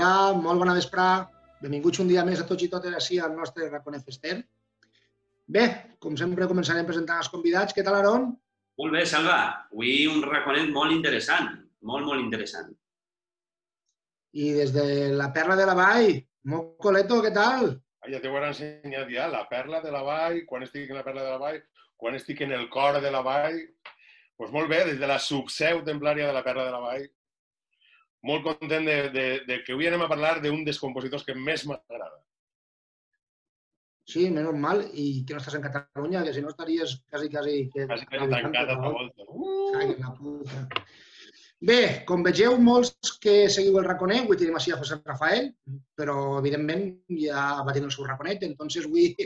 Hola, molt bona vesprà. Benvinguts un dia més a tots i totes així al nostre Raconet Fester. Bé, com sempre començarem presentant els convidats. Què tal, Aron? Molt bé, Salva. Avui un raconet molt interessant, molt interessant. I des de la Perla de la Vall, Mocoleto, què tal? Ja t'ho he ensenyat ja, la Perla de la Vall, quan estic en la Perla de la Vall, quan estic en el cor de la Vall. Doncs molt bé, des de la subseu templària de la Perla de la Vall. Molt content de que avui anem a parlar d'un dels compositors que més m'agrada. Sí, menys mal, i que no estàs en Catalunya, que si no estaries quasi... Quasi tancat a la volta. Ai, la puta. Bé, com vegeu, molts que seguiu el Raconet, avui tenim així a José Rafael, però evidentment ja va tenir el seu Raconet, entonces vull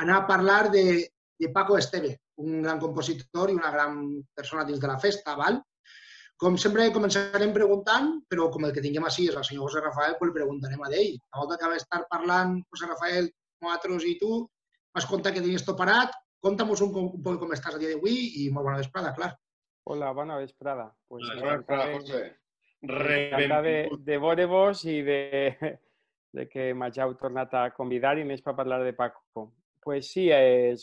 anar a parlar de Paco Esteve, un gran compositor i una gran persona dins de la festa, val? Com sempre començarem preguntant, però com el que tinguem així és el senyor José Rafael, doncs li preguntarem a ell. A volta que va estar parlant José Rafael, nosaltres i tu, vas contar que tenies tot parat. Conta'm-nos un poc com estàs a dia d'avui i molt bona vesprada, clar. Hola, bona vesprada. Pues bona vesprada, José. Encantat de veure-vos i de que m'hàgiu tornat a convidar i més per parlar de Paco. Pues sí,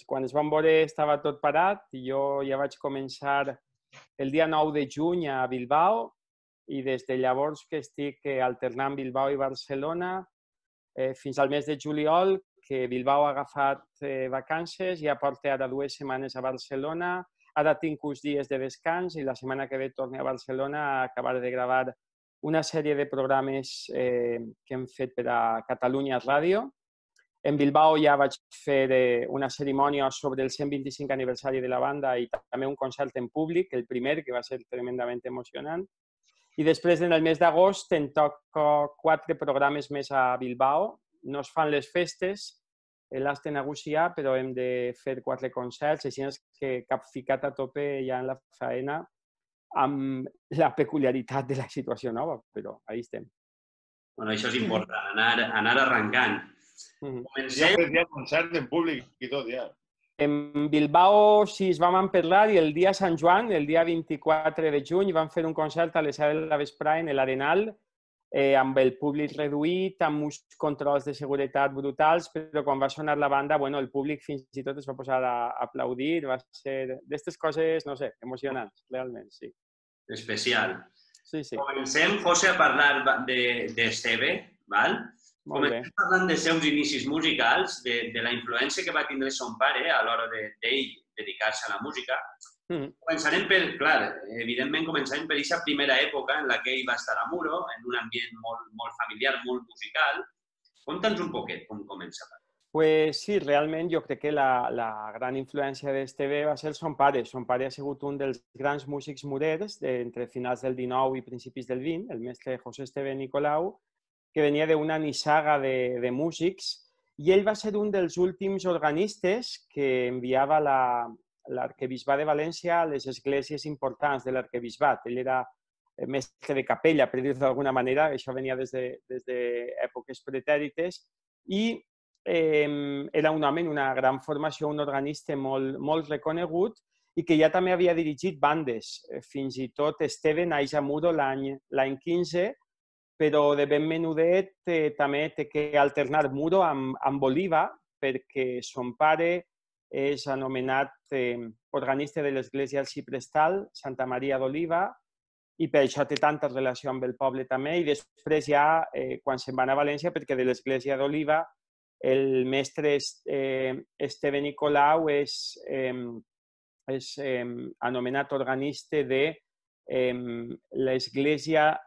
quan es van veure estava tot parat i jo ja vaig començar el dia 9 de juny a Bilbao i des de llavors que estic alternant Bilbao i Barcelona fins al mes de juliol, que Bilbao ha agafat vacances, ja porta ara 2 setmanes a Barcelona, ara tinc uns dies de descans i la setmana que ve torno a Barcelona a acabar de gravar una sèrie de programes que hem fet per a Catalunya Ràdio. En Bilbao ja vaig fer una cerimònia sobre el 125 aniversari de la banda i també un concert en públic, el primer, que va ser tremendament emocionant. I després, en el mes d'agost, em toco 4 programes més a Bilbao. No es fan les festes, l'has de negociar, però hem de fer 4 concerts, així que cap ficat a tope ja en la faena amb la peculiaritat de la situació nova, però ahí estem. Bueno, això és important, anar arrencant. Ja fet ja concert en públic i tot, ja. En Bilbao sí es vam emperlar i el dia Sant Joan, el dia 24 de juny, vam fer un concert a les 7 de la vesprà en l'Arenal amb el públic reduït, amb uns controls de seguretat brutals, però quan va sonar la banda, bueno, el públic fins i tot es va posar a aplaudir, va ser d'aquestes coses, no sé, emocionants, realment, sí. Especial. Sí, sí. Comencem, José, a parlar d'Esteve, val? Comencem parlant dels seus inicis musicals, de la influència que va tindre son pare a l'hora d'ell dedicar-se a la música. Començarem per, clar, evidentment començarem per aquesta primera època en la que ell va estar a Muro, en un ambient molt familiar, molt musical. Conta'ns un poquet com comença. Pues sí, realment jo crec que la gran influència d'Esteve va ser son pare. Son pare ha sigut un dels grans músics murers entre finals del 19 i principis del 20, el mestre José Esteve Nicolau, que venia d'una nissaga de músics, i ell va ser un dels últims organistes que enviava l'arquebisbat de València a les esglésies importants de l'arquebisbat. Ell era mestre de capella, per dir-ho d'alguna manera, això venia des d'èpoques pretèrites, i era un home en una gran formació, un organista molt reconegut i que ja també havia dirigit bandes. Fins i tot Esteve naix a Muro l'any 15, però de ben menudet també té que alternar Muro amb Oliva, perquè son pare és anomenat organista de l'església arxiprestal Santa Maria d'Oliva i per això té tanta relació amb el poble també. I després ja, quan se'n va anar a València, perquè de l'església d'Oliva el mestre Esteve Nicolau és anomenat organista de l'església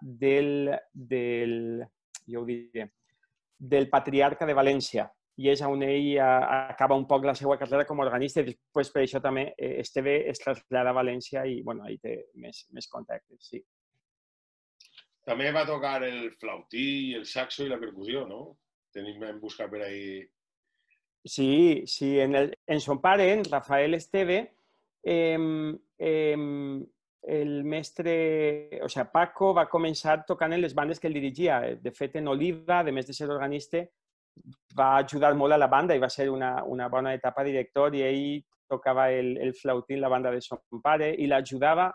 del Patriarca de València, i és on ell acaba un poc la seva carrera com a organista i després per això també Esteve es trasllada a València i ahí té més contactes, sí. També va tocar el flautí, el saxo i la percussió, no? Tenim en buscar per ahí... Sí, en son pare, en Rafael Esteve, el mestre, Paco va començar tocant en les bandes que ell dirigia. De fet, en Oliva, a més de ser organista, va ajudar molt a la banda i va ser una bona etapa director i ell tocava el flautí en la banda de son pare i l'ajudava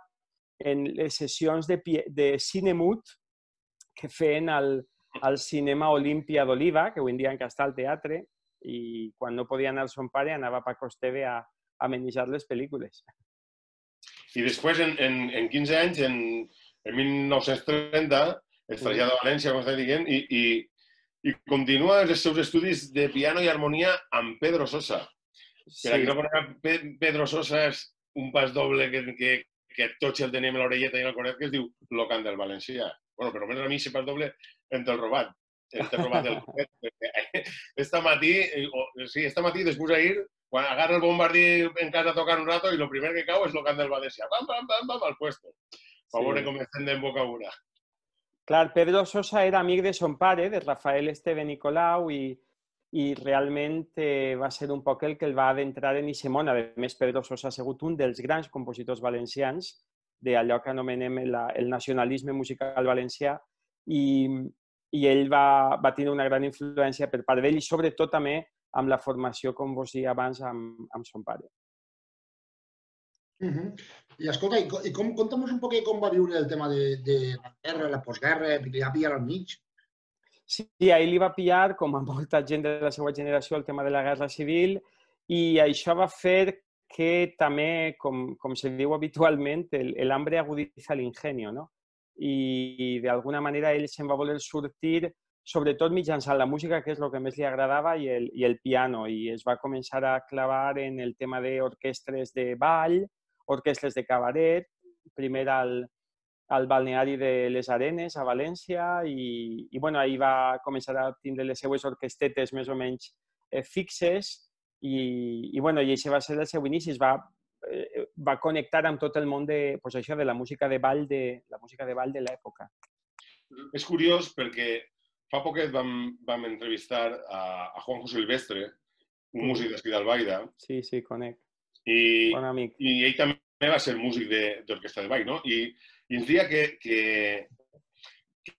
en les sessions de cine mut que feien al cinema Olímpia d'Oliva, que avui en dia encara està al teatre, i quan no podia anar son pare anava a Paco Esteve a amenitzar les pel·lícules. I després, en 15 anys, en 1930, es trasllada a València, com estàs dient, i continua els seus estudis de piano i harmonia amb Pedro Sosa. Per a qui no coneix, Pedro Sosa és un pas doble que tots el tenim a l'orelleta i al coret, que es diu Lo Cant del Valencià. Bueno, però almenys a mi, si pas doble, en te'l robat. En te'l robat del coret. Esta matí, després d'ahir, quan agarra el bombardí en casa a tocar un rato i el primer que cau és Lo Cant del Valencià. Pam, pam, pam, pam, al puesto. Per veure com estem en boca una. Clar, Pedro Sosa era amic de son pare, de Rafael Esteve Nicolau, i realment va ser un poc el que el va adentrar en aquest món. A més, Pedro Sosa ha sigut un dels grans compositors valencians d'allò que anomenem el nacionalisme musical valencià, i ell va tenir una gran influència per part d'ell i sobretot també amb la formació, com vos deia abans, amb son pare. I escolta, conta'm un poc com va viure el tema de la guerra, la postguerra, li va pillar al mig. Sí, a ell li va pillar, com a molta gent de la seva generació, el tema de la guerra civil, i això va fer que també, com se diu habitualment, el hambre agudiza el ingenio, no? I d'alguna manera ell se'n va voler sortir, sobretot mitjançant la música, que és el que més li agradava, i el piano, i es va començar a clavar en el tema d'orquestres de ball, orquestres de cabaret, primer al balneari de les Arenes, a València, i bueno, ahir va començar a tindre les seues orquestetes més o menys fixes, i aquest va ser el seu inici. Es va connectar amb tot el món de la música de ball de l'època. És curiós perquè fa poquet vam entrevistar a Juanjo Silvestre, un músic d'aquí d'Albaida. Sí, conec. Bon amic. I ell també va ser músic d'orquestra de ball, no? I ens deia que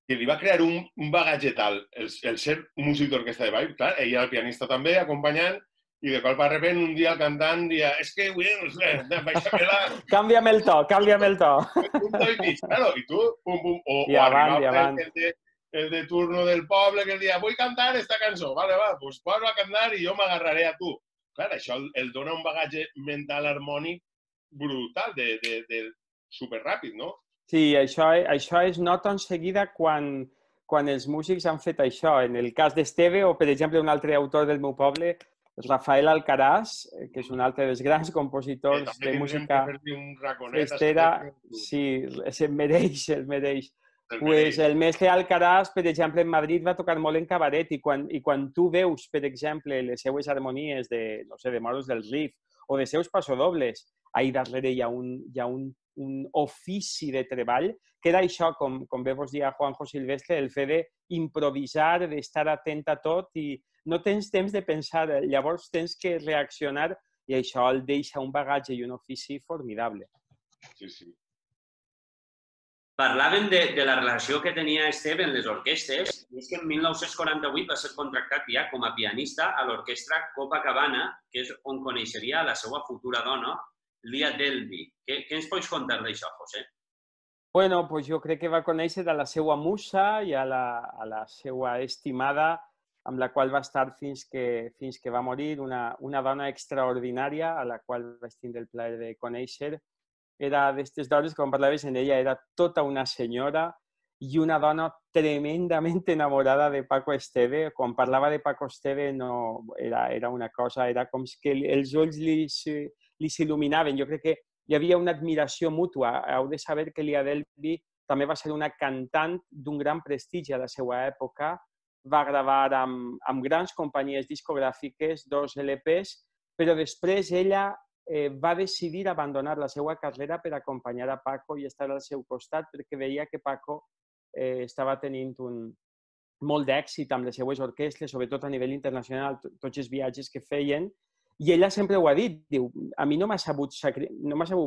li va crear un bagatge tal el ser músic d'orquestra de ball. Clar, ell era el pianista també, acompanyant, i de cop de repente un dia el cantant dia és que avui baixa'm-la... Canvia'm el to. Un to i mig, claro, i tu, pum, pum, o arribava el de turno del poble que el dia vull cantar esta cançó, vale, va, pues posa a cantar i jo m'agarraré a tu. Clar, això el dona un bagatge mental harmònic brutal, superràpid, no? Sí, això es nota en seguida quan els músics han fet això. En el cas d'Esteve, o per exemple un altre autor del meu poble, Rafael Alcaraz, que és un altre dels grans compositors de música festera. Sí, se'l mereix. Pues el mestre Alcaraz, per exemple, en Madrid va tocar molt en cabaret i quan tu veus, per exemple, les seues harmonies de Moros del Rif o de seus passodobles, ahí darrere hi ha un ofici de treball, que era això, com bé vos dia Juanjo Silvestre, el fet d'improvisar, d'estar atent a tot i no tens temps de pensar, llavors tens que reaccionar i això el deixa un bagatge i un ofici formidable. Sí, sí. Parlaven de la relació que tenia Esteve en les orquestes i és que en 1948 va ser contractat ja com a pianista a l'orquestra Copacabana, que és on coneixeria la seva futura dona, Lia Delby. Què ens pots contar d'això, José? Bueno, pues jo crec que va conèixer a la seva musa i a la seva estimada, amb la qual va estar fins que va morir, una dona extraordinària a la qual vaig tindre el plaer de conèixer. Era d'aquestes dones, com parlaves en ella, era tota una senyora i una dona tremendament enamorada de Paco Esteve. Quan parlava de Paco Esteve era una cosa, era com que els ulls li s'il·luminaven. Jo crec que hi havia una admiració mútua. Heu de saber que Lia Delby també va ser una cantant d'un gran prestigi a la seva època. Va gravar amb grans companyies discogràfiques, 2 LPs, però després ella va decidir abandonar la seva carrera per acompanyar a Paco i estar al seu costat perquè veia que Paco estava tenint molt d'èxit amb les seues orquestres, sobretot a nivell internacional, tots els viatges que feien. I ella sempre ho ha dit, diu, a mi no m'ha sabut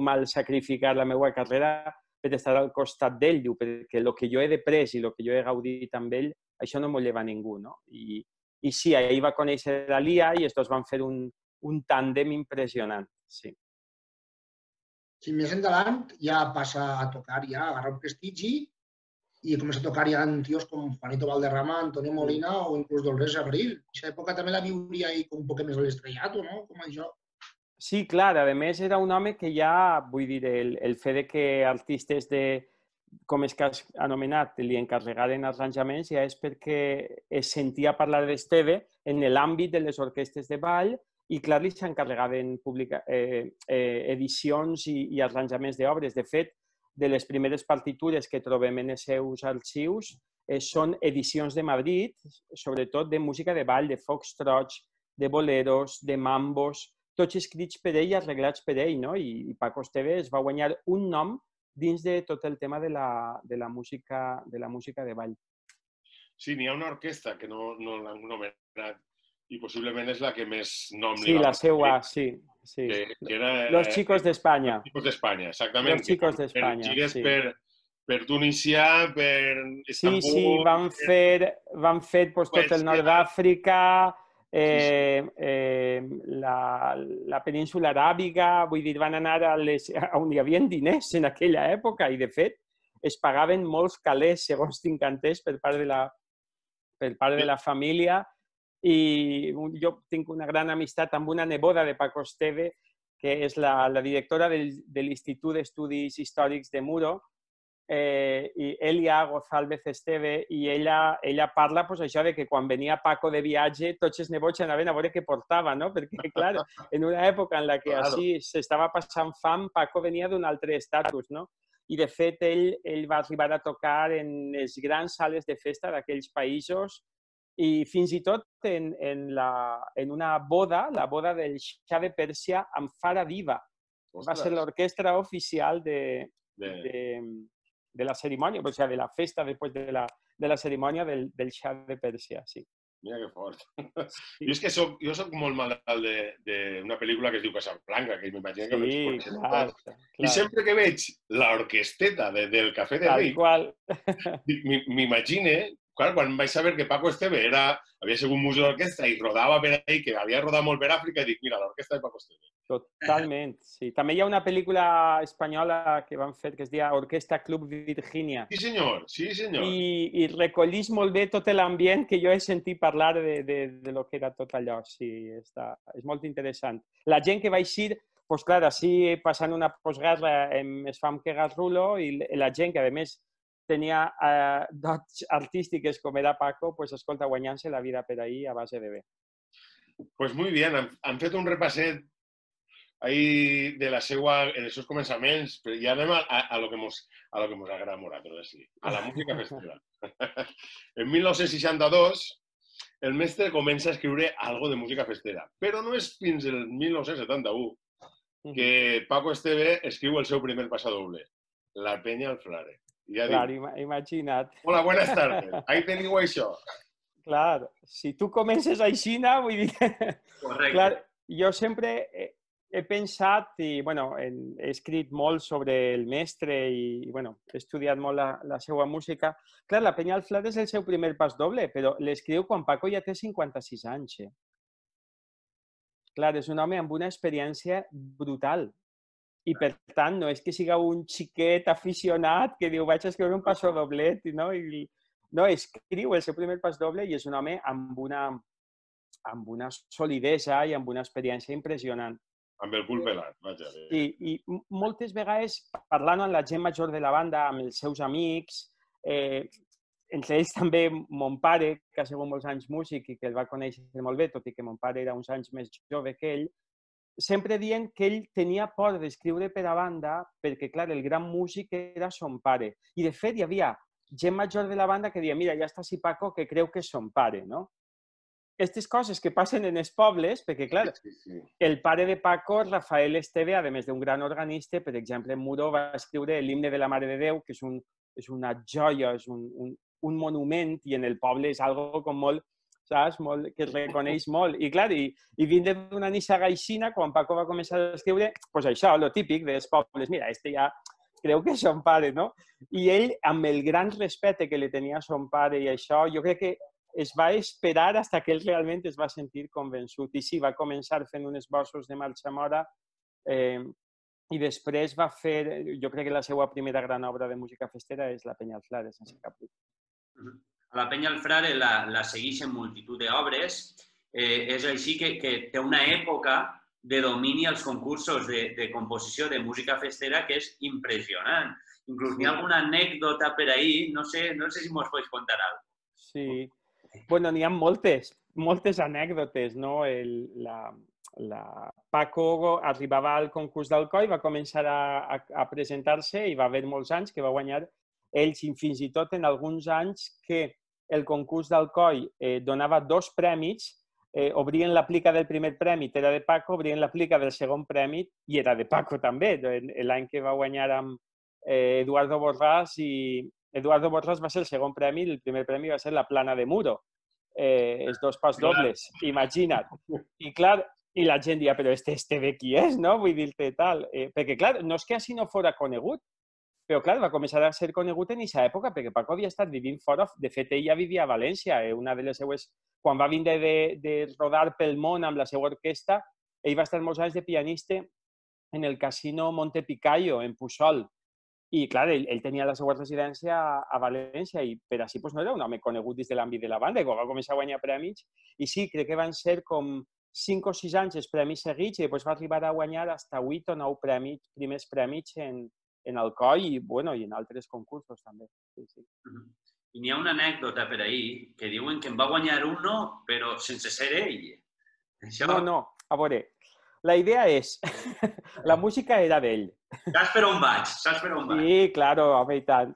mal sacrificar la meva carrera per estar al costat d'ell, diu, perquè el que jo he després i el que jo he gaudit amb ell, això no m'ho lleva ningú, no? I sí, ahir va conèixer la Lia i estos van fer un tàndem impressionant, sí. Si més endavant ja passa a tocar, ja agarra un prestigi i he començat a tocar ja amb tios com Juanito Valderrama, Antonio Molina o inclús Dolores Abril. En aquesta època també la viuria ahí com un poc més a l'estrellato, no? Com això. Sí, clar, a més era un home que ja, vull dir, el fet de que artistes de, com és que has anomenat, li encarregaren arranjaments ja és perquè es sentia parlar d'Esteve en l'àmbit de les orquestres de ball i, clar, li s'encarregaven edicions i arranjaments d'obres. De fet, de les primeres partitures que trobem en els seus arxius són edicions de Madrid, sobretot de música de ball, de foxtrots, de boleros, de mambos, tots escrits per ell i arreglats per ell, no? I Paco Esteve es va guanyar un nom dins de tot el tema de la música de ball. Sí, n'hi ha una orquestra que no l'han nomenat i possiblement és la que més nom li Sí, va la seva, sí. Que era, Los Chicos d'Espanya. Los Chicos d'Espanya, exactament. Los Chicos d'Espanya, gires sí. per Tunisià, per Istanbul... Sí, van fer pues, tot el nord d'Àfrica, la península aràbiga, vull dir, van anar on hi havia diners en aquella època i, de fet, es pagaven molts calés, segons tinc entès, per part de la família. I jo tinc una gran amistat amb una neboda de Paco Esteve, que és la directora de l'Institut d'Estudis Històrics de Muro, i Elia González Esteve, i ella parla pues, això de que quan venia Paco de viatge tots els nebots anaven a veure què portava, no? Perquè, clar, en una època en la que així s'estava passant fam, Paco venia d'un altre estatus, no? I, de fet, ell va arribar a tocar en les grans sales de festa d'aquells països i fins i tot en una boda, la boda del Xa de Pèrsia amb Fara Diva. Va ser l'orquestra oficial de la cerimònia, o sigui, de la festa després de la cerimònia del Xa de Pèrsia, sí. Mira que fort. Sí. Jo és que jo soc molt malalt d'una pel·lícula que es diu Casablanca, que m'imagino que veig per clar. I sempre que veig l'orquesteta del Cafè de Ric, m'imagine, quan vaig saber que Paco Esteve havia sigut músic d'orquestra i rodava per ahí, que havia rodat molt per Àfrica, i dic, mira, l'orquestra de Paco Esteve. Totalment, sí. També hi ha una pel·lícula espanyola que van fer que es diu Orquestra Club Virginia. Sí, senyor, sí, senyor. I recollís molt bé tot l'ambient que jo he sentit parlar de lo que era tot allò. Sí, és molt interessant. La gent que va eixir, doncs clar, així passant una postguerra es fa amb que Garrulo i la gent que, a més, tenia dots artístiques com era Paco, doncs, escolta, guanyant-se la vida per ahí a base de bé. Pues muy bien, han fet un repasset ahí de els seus començaments, però ja anem a lo que mos agrada a nosaltres, a la música festera. En 1962, el mestre comença a escriure algo de música festera, però no és fins el 1971 que Paco Esteve escriu el seu primer passadoble, La Peña al Frare. Clar, imagina't. Hola, buenas tardes. Ahí teniu això. Clar, si tu comences així, vull dir... Correcte. Clar, jo sempre he pensat i, bueno, he escrit molt sobre el mestre i, bueno, he estudiat molt la seva música. Clar, La Peña al Frare és el seu primer pas doble, però l'escriu quan Paco ja té 56 anys. Clar, és un home amb una experiència brutal. I, per tant, no és que siga un xiquet aficionat que diu vaig a escriure un passadoblet, no? No, escriu el seu primer passadoble i és un home amb una solidesa i amb una experiència impressionant. Amb el cul pelat, vaja. I moltes vegades, parlant amb la gent major de la banda, amb els seus amics, entre ells també mon pare, que ha sigut molts anys músic i que el va conèixer molt bé, tot i que mon pare era uns anys més jove que ell, sempre dient que ell tenia por d'escriure per a banda perquè, clar, el gran músic era son pare. I, de fet, hi havia gent major de la banda que deia mira, ja està si Paco que creu que és son pare, no? Aquestes coses que passen en els pobles, perquè, clar, el pare de Paco, Rafael Esteve, a més d'un gran organista, per exemple, en Muro va escriure l'himne de la Mare de Déu, que és una joia, és un monument, i en el poble és algo com molt, saps? Que es reconeix molt. I, clar, i vindre d'una nissaga aixina, quan Paco va començar a escriure, doncs això, lo típic dels pobles, mira, este ja creu que és son pare, no? I ell, amb el gran respecte que li tenia a son pare i això, jo crec que es va esperar fins que ell realment es va sentir convençut. I sí, va començar fent uns esbossos de marxa mora i després va fer, jo crec que la seva primera gran obra de música festera és la Penya al Frare, sense cap dubte. A la Penya al Frare la segueixen multitud d'obres. És així que té una època de domini als concursos de composició de música festera que és impressionant. Inclús n'hi ha alguna anècdota per ahí, no sé si mos pots contar alguna cosa. Sí, bueno, n'hi ha moltes anècdotes, no? Paco arribava al concurs d'Alcoi, va començar a presentar-se i va haver molts anys que va guanyar ells, i fins i tot en alguns anys que el concurs d'Alcoi donava 2 premis, obrien la plica del primer premi, era de Paco, obrien la plica del segon premi i era de Paco també, l'any que va guanyar amb Eduardo Borràs, i Eduardo Borràs va ser el segon premi i el primer premi va ser la plana de Muro, els 2 pas dobles, imagina't. I clar, i la gent dia, però este bé qui és, no? Vull dir-te tal. Perquè clar, no és que així no fora conegut, però clar, va començar a ser conegut en aquesta època perquè Paco havia estat vivint fora. De fet, ell ja vivia a València. Una de les seues... Quan va vindre de rodar pel món amb la seva orquestra, ell va estar molts anys de pianista en el Casino Montepicayo, en Puçol. I, clar, ell tenia la seva residència a València i per així no era un home conegut des de l'àmbit de la banda. I quan va començar a guanyar premis, i sí, crec que van ser com 5 o 6 anys els premis seguits i després va arribar a guanyar fins a 8 o 9 primers premis en Alcoi i en altres concursos també. Sí. I n'hi ha una anècdota per ahir que diuen que en va guanyar uno, però sense ser ell. No, a veure, la idea és, la música era d'ell. Saps per on vaig? Sí, claro, home, i tant.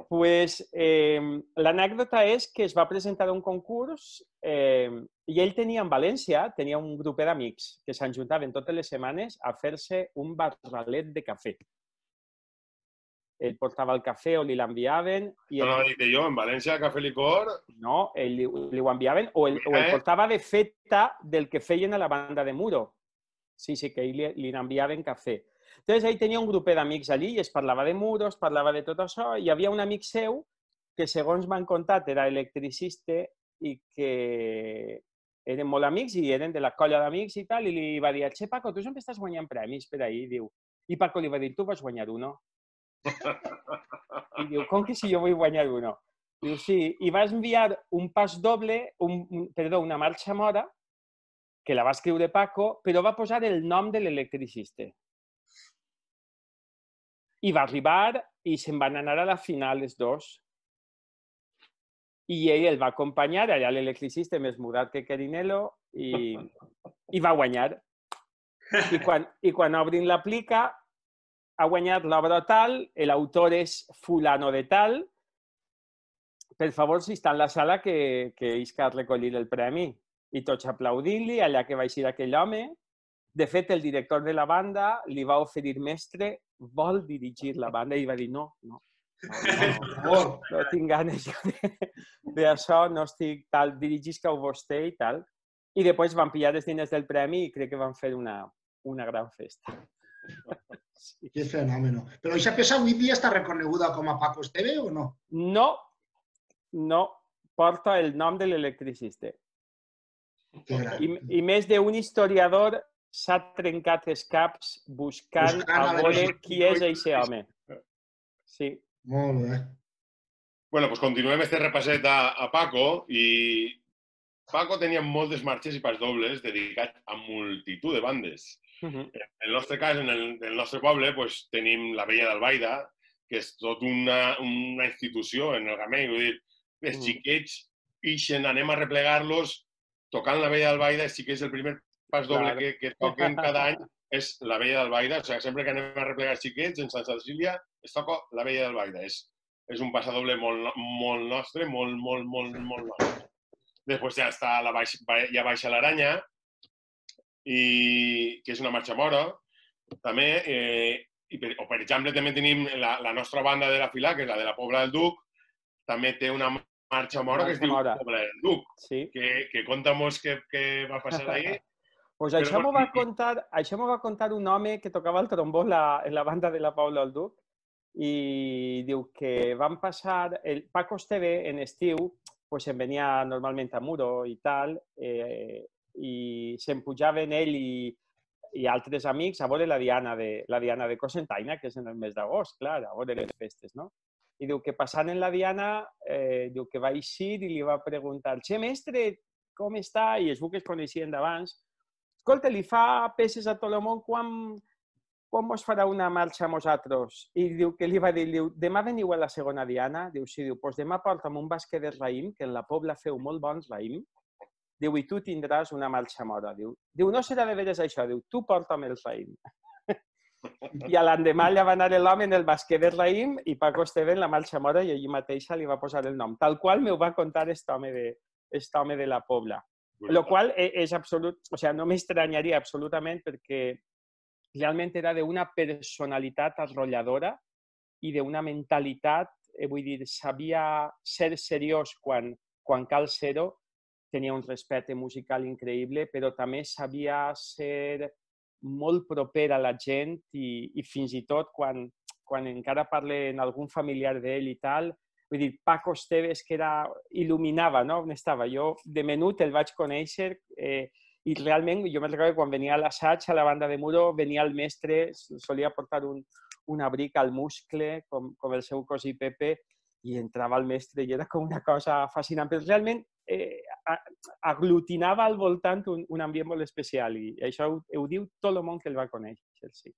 Pues l'anècdota és que es va presentar a un concurs i ell tenia en València, tenia un grup d'amics que s'ajuntaven totes les setmanes a fer-se un barralet de cafè. Ell portava el cafè o li l'enviaven. No, dic jo, en València, cafè licor... No, li ho enviaven o el portava de feta del que feien a la banda de Muro. Sí, que ell li n'enviaven cafè. Entonces, ell tenia un grup d'amics allí i es parlava de Muro, es parlava de tot això, i hi havia un amic seu que, segons m'han contat, era electricista i que eren molt amics i eren de la colla d'amics i tal, i li va dir, che, Paco, tu sempre estàs guanyant premis per ahí, diu. I Paco li va dir, tu vas guanyar uno. I diu, com que si jo vull guanyar uno? Diu, sí, i vas enviar un pas doble, una marxa mora, que la va escriure Paco, però va posar el nom de l'electricista. I va arribar i se'n van anar a la final els dos. I ell el va acompanyar, allà l'electricista més mudat que Querinelo, i va guanyar. I quan obrin l'aplica, ha guanyat l'obra tal, l'autor és fulano de tal. Per favor, si està en la sala, que isca a recollir el premi. I tots aplaudint-li, allà que va eixir aquell home. De fet, el director de la banda li va oferir, mestre, vol dirigir la banda? I va dir, no tinc ganes d'això, no estic tal, dirigisca-ho vostè i tal. I després van pillar els diners del premi i crec que van fer una gran festa. Sí. Que fenomen. Però aquesta peça avui dia està reconeguda com a Paco Esteve o no? No, porta el nom de l'electricista. I més d'un historiador s'ha trencat els caps buscant a veure qui és aquest home. Sí. Molt bé. Bueno, doncs continuem este repasset a Paco i Paco tenia moltes marxes i pas dobles dedicats a multitud de bandes. En el nostre cas, en el nostre poble, tenim la Vella d'Albaida, que és tot una institució en el Gamell. Vull dir, els xiquets ixen, anem a replegar-los tocant la Vella d'Albaida, sí que és el primer pas doble que toquen cada any, és la Vella d'Albaida. O sigui, sempre que anem a replegar els xiquets en Sant Cecília, es toca la Vella d'Albaida. És un passadoble molt nostre, molt nostre. Després ja està ja baixa l'Aranya, que és una marxa mora. També, o per exemple, també tenim la nostra banda de la Filà, que és la de la Pobla del Duc, també té una marxa mora que es diu Pobla del Duc, que conta-mos què va passar ahí. Pues això m'ho va contar un home que tocava el trombó en la banda de la Pobla del Duc i diu que van passar... El Paco Esteve en estiu se'n venia normalment a Muro i tal, i se'n pujaven ell i i altres amics a veure la Diana de Cocentaina, que és en el mes d'agost, clar, a veure les festes, no? I diu que passant en la Diana, diu que va eixir i li va preguntar «Che, mestre, com està?» I es veu que es coneixien d'abans. «Escolta, li fa peces a tot el món, quan mos farà una marxa a nosaltres?» I diu que li va dir, diu, «Demà veniu a la segona Diana?» Diu, «Sí», diu, «Doncs demà porta'm un basquet de raïm, que en la Pobla feu molt bons raïm». Diu, «I tu tindràs una marxa mora». Diu, «No serà de veres això», diu, «Tu porta'm el raïm». I a l'endemà ja va anar l'home en el basquet de raïm i Paco Esteve en la marxa mora i allí mateixa li va posar el nom. Tal qual m'ho va contar aquest home de la Pobla. Lo qual és absolut, o sigui, no m'estranyaria absolutament perquè realment era d'una personalitat arrolladora i d'una mentalitat, vull dir, sabia ser seriós quan cal ser-ho, tenia un respecte musical increïble, però també sabia ser molt proper a la gent i fins i tot quan encara parle en algun familiar d'ell i tal, vull dir, Paco Esteves que il·luminava, no? On estava? Jo de menut el vaig conèixer i realment jo me'n recordo que quan venia a l'assaig a la banda de Muro venia el mestre, solia portar un abric al muscle com el seu cosí Pepe i entrava el mestre i era com una cosa fascinant, però realment aglutinava al voltant un ambient molt especial i això ho diu tot el món que el va conèixer, sí.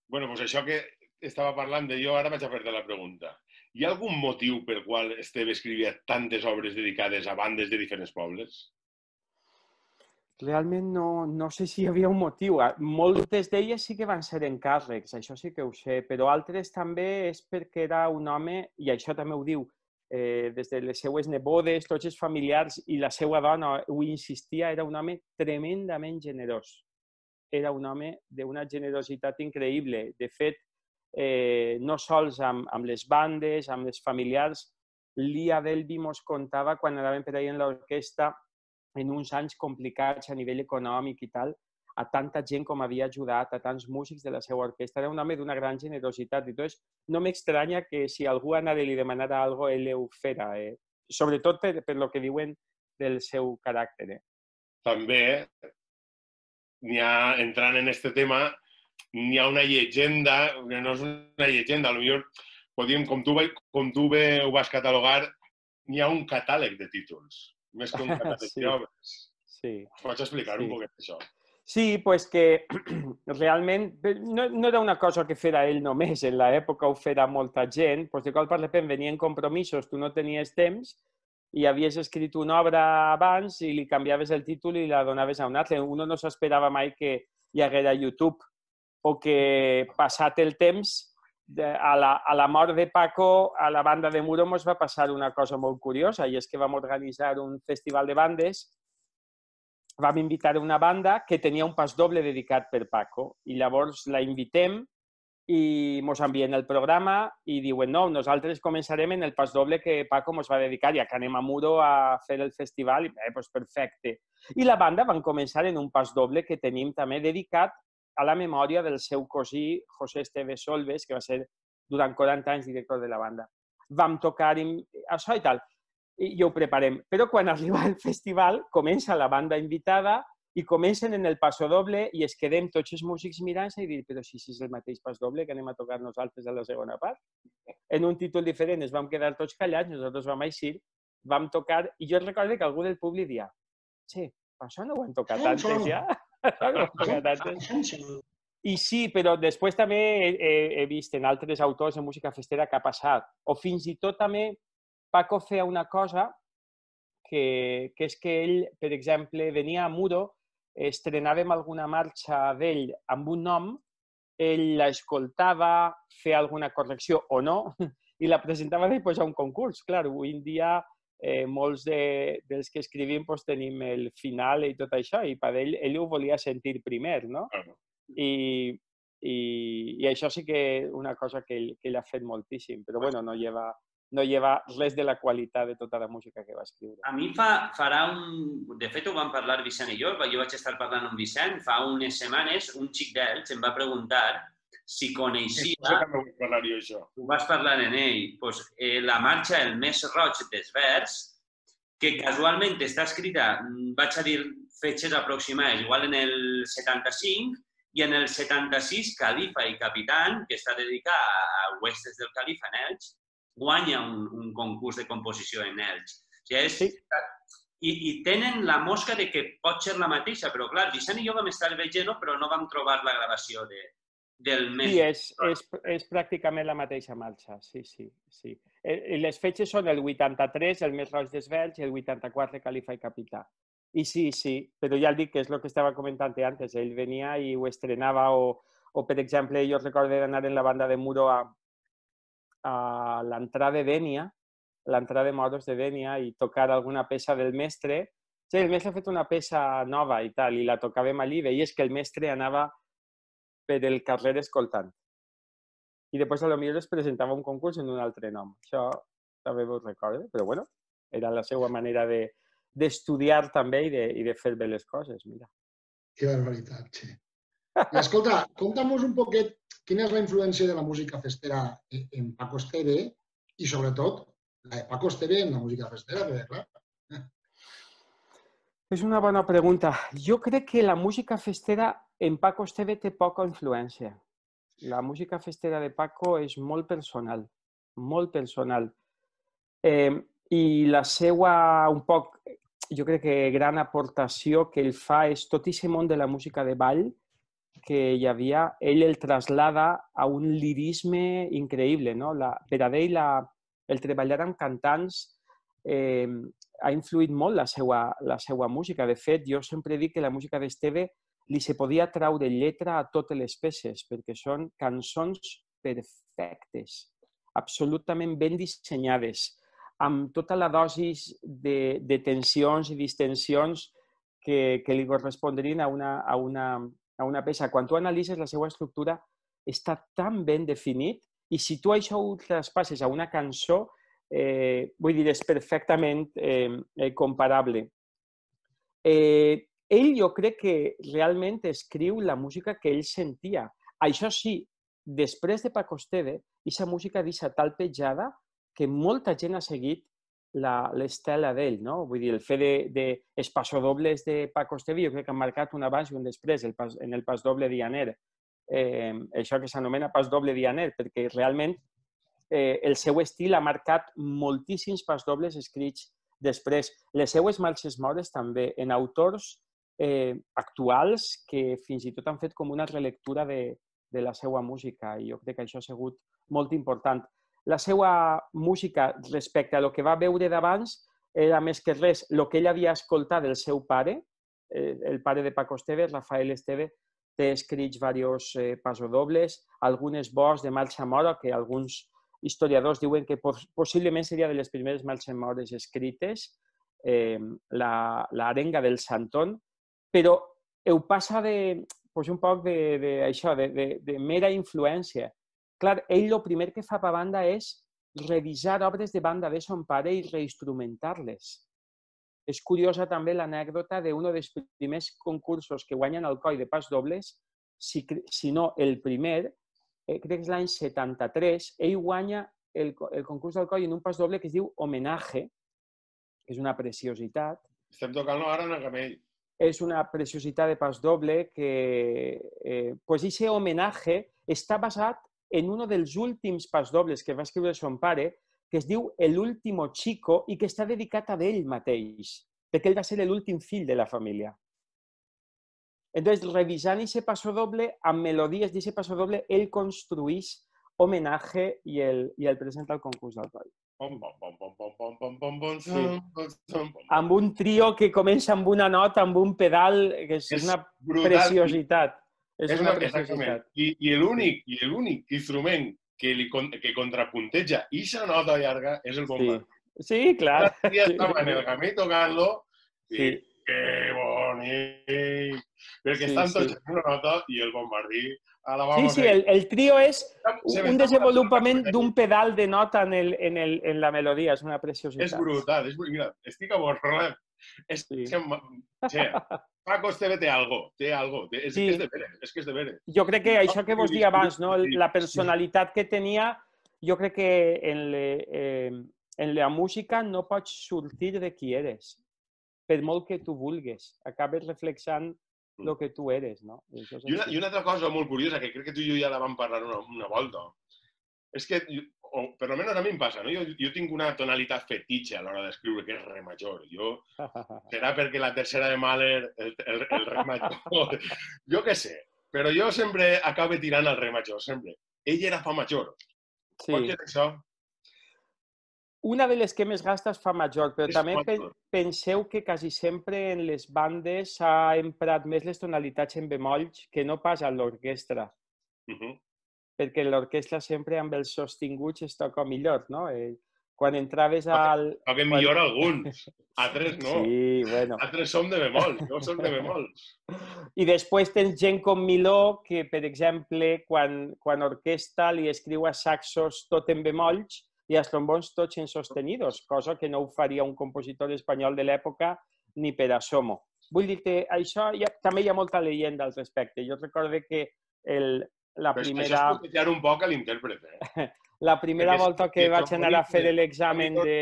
Bueno, doncs això que estava parlant de jo, ara vaig a fer-te la pregunta. Hi ha algun motiu pel qual Esteve escrivia tantes obres dedicades a bandes de diferents pobles? Realment no sé si hi havia un motiu. Moltes d'elles sí que van ser encàrrecs, això sí que ho sé, però altres també és perquè era un home, i això també ho diu, des de les seues nebodes, tots els familiars i la seva dona, ho insistia, era un home tremendament generós. Era un home d'una generositat increïble. De fet, no sols amb les bandes, amb els familiars, l'Ia Delvi mos contava quan anàvem per ahí en l'orquestra en uns anys complicats a nivell econòmic i tal, a tanta gent com havia ajudat, a tants músics de la seva orquestra. Era un home d'una gran generositat. Entonces, no m'estranya que si algú anara i li demanara alguna cosa, ell ho fera. Sobretot per lo que diuen del seu caràcter. També, entrant en aquest tema, n'hi ha una llegenda, no és una llegenda, potser podríem, com tu bé ho vas catalogar, n'hi ha un catàleg de títols, més que un catàleg d'obres. Sí. Pots explicar un poquet això? Sí, pues que realment no era una cosa que fera ell només, en l'època ho fera molta gent, pues de cop per repent venien compromisos, tu no tenies temps i havies escrit una obra abans i li canviaves el títol i la donaves a un altre. Uno no s'esperava mai que hi haguera YouTube o que passat el temps, a la mort de Paco, a la banda de Muro ens va passar una cosa molt curiosa i és que vam organitzar un festival de bandes. Vam invitar una banda que tenia un pas doble dedicat per Paco i llavors la invitem i ens envien el programa i diuen no, nosaltres començarem en el pas doble que Paco ens va dedicar, ja que anem a Muro a fer el festival, i doncs perfecte. I la banda van començar en un pas doble que tenim també dedicat a la memòria del seu cosí José Esteve Solves, que va ser durant 40 anys director de la banda. Vam tocar això i tal. I ho preparem. Però quan arriba el festival, comença la banda invitada i comencen en el pasodoble i es quedem tots els músics mirant-se i dir, però si és el mateix pasodoble que anem a tocar nosaltres a la segona part. En un títol diferent ens vam quedar tots callats, nosaltres vam eixir, vam tocar i jo recordo que algú del públic dia, sí, això no ho hem tocat antes ja? I sí, però després també he vist en altres autors de música festera que ha passat. O fins i tot també Paco feia una cosa que és que ell, per exemple, venia a Muro, estrenàvem alguna marxa d'ell amb un nom, ell l'escoltava, feia alguna correcció o no, i la presentava després a un concurs. Clar, avui en dia molts dels que escrivim tenim el final i tot això, i per ell ho volia sentir primer, no? I això sí que és una cosa que ell ha fet moltíssim, però bueno, no lleva res de la qualitat de tota la música que va escriure. A mi farà De fet, ho vam parlar Vicent i jo vaig estar parlant amb Vicent, fa unes setmanes, un xic d'Elx em va preguntar si coneixia... Això també vull parlar jo, això. Ho vas parlar en ell. La marxa El més roig dels vers, que casualment està escrita, vaig a dir fetges aproximades, igual en el 75, i en el 76, Califa i Capitán, que està dedicat a Huestes del Califa en Elx, guanya un concurs de composició en Elx. O sigui, i tenen la mosca de que pot ser la mateixa, però clar, Vicent i jo vam estar veient, però no vam trobar la gravació del mes. Sí, és pràcticament la mateixa marxa, sí. Les fetges són el 83, el Més Roig d'Esvells, i el 84, Califa i Capità. I sí, però ja el dic que és el que estava comentant antes. Ell venia i ho estrenava, o per exemple, jo recordo d'anar en la banda de Muro a l'entrada de Dénia, l'entrada de Moros de Dénia, i tocar alguna peça del mestre. Sí, el mestre ha fet una peça nova i tal, i la tocàvem allí, veies que el mestre anava per el carrer escoltant. I després potser es presentava un concurs en un altre nom. Això també ho recordo, però bueno, era la seva manera d'estudiar també i de fer bé les coses, mira. Que barbaritat, sí. I escolta, conta'm-nos un poquet quina és la influència de la música festera en Paco Esteve i, sobretot, la de Paco Esteve en la música festera, perquè, clar... És una bona pregunta. Jo crec que la música festera en Paco Esteve té poca influència. La música festera de Paco és molt personal, molt personal. I la seva, un poc, jo crec que gran aportació que ell fa és tot aquest món de la música de ball que hi havia, ell el traslada a un lirisme increïble, no? Per a ell, el treballar amb cantants ha influït molt la seva música. De fet, jo sempre dic que la música d'Esteve li se podia traure lletra a totes les peces, perquè són cançons perfectes, absolutament ben dissenyades, amb tota la dosis de tensions i distensions que li correspondrien a una peça. Quan tu analitzes la seva estructura, està tan ben definit, i si tu això ho traspasses a una cançó, vull dir, és perfectament comparable. Ell jo crec que realment escriu la música que ell sentia. Això sí, després de Paco Esteve, aquesta música deixa tal petjada que molta gent ha seguit l'estela d'ell, no? Vull dir, el fet dels passodobles de Paco Esteve jo crec que han marcat un abans i un després en el pasdoble dianer. Això que s'anomena pasdoble dianer, perquè realment el seu estil ha marcat moltíssims pasdobles escrits després. Les seues marxes mores també, en autors actuals que fins i tot han fet com una relectura de la seva música, i jo crec que això ha sigut molt important. La seva música respecte a lo que va veure d'abans era més que res el que ell havia escoltat del seu pare, el pare de Paco Esteve, Rafael Esteve, té escrits diversos passodobles, algunes vols de marxa mora que alguns historiadors diuen que possiblement seria de les primeres marxes mores escrites, l'arenga del Santón, però ho passa un poc de mera influència. Clar, ell el primer que fa per banda és revisar obres de banda de son pare i reinstrumentar-les. És curiosa també l'anècdota d'un dels primers concursos que guanyen Alcoi de pasdobles, si no el primer, crec que és l'any 73, ell guanya el concurs d'Alcoi en un pasdoble que es diu Homenaje, que és una preciositat. Estem tocant-lo ara en el camell. És una preciositat de pasdoble que, pues, aquest Homenaje està basat en un dels últims pasdobles que va escriure son pare, que es diu El último chico i que està dedicat a ell mateix, perquè ell va ser l'últim fill de la família. Entonces, revisant aquest passodoble, amb melodies d'aquest passodoble, ell construeix Homenaje i el presenta al concurs d'Alcoi. Amb un trio que comença amb una nota, amb un pedal, que és una preciositat. És una preciositat. I l'únic instrument que contrapunteja aquesta nota llarga és el bombardí. Sí, clar. Ja estava en el camí tocant-lo i que bonic! Perquè estan tots en una nota i el bombardí a la vamos. Sí, el trio és un desenvolupament d'un pedal de nota en la melodia. És una preciositat. És brutal. Mira, estic avorrat. Paco Esteve té algo. És que és de veres. Jo crec que això que vos dia abans, la personalitat que tenia, jo crec que En la música no pots sortir de qui eres, per molt que tu vulguis. Acabes reflexant el que tu eres, no? I una altra cosa molt curiosa, que crec que tu i jo ja la vam parlar una volta, és que, o per almenys a mi em passa, no? Jo tinc una tonalitat fetitxe a l'hora d'escriure, que és re major. Serà perquè la tercera de Mahler, el re major, jo què sé, però jo sempre acabo tirant al re major, sempre. Ell era fa major. Sí. Pot ser això? Una de les que més gasta és fa major, però també penseu que quasi sempre en les bandes s'ha emprat més les tonalitats en bemolls que no pas a l'orquestra. Perquè l'orquestra sempre amb els sostinguts es toca millor, no? Quan entraves al... Toquen millor alguns, altres no. Sí, bueno. Altres som de bemoll, jo som de bemoll. I després tens gent com Miló que, per exemple, quan orquestra li escriu a saxos tot en bemolls i als trombons tots en sostenidos, cosa que no ho faria un compositor espanyol de l'època ni per asomo. Vull dir que això també hi ha molta leyenda al respecte. Jo recordo que la primera... Això és cotejar un poc a l'intèrpret. La primera volta que vaig anar a fer l'examen de...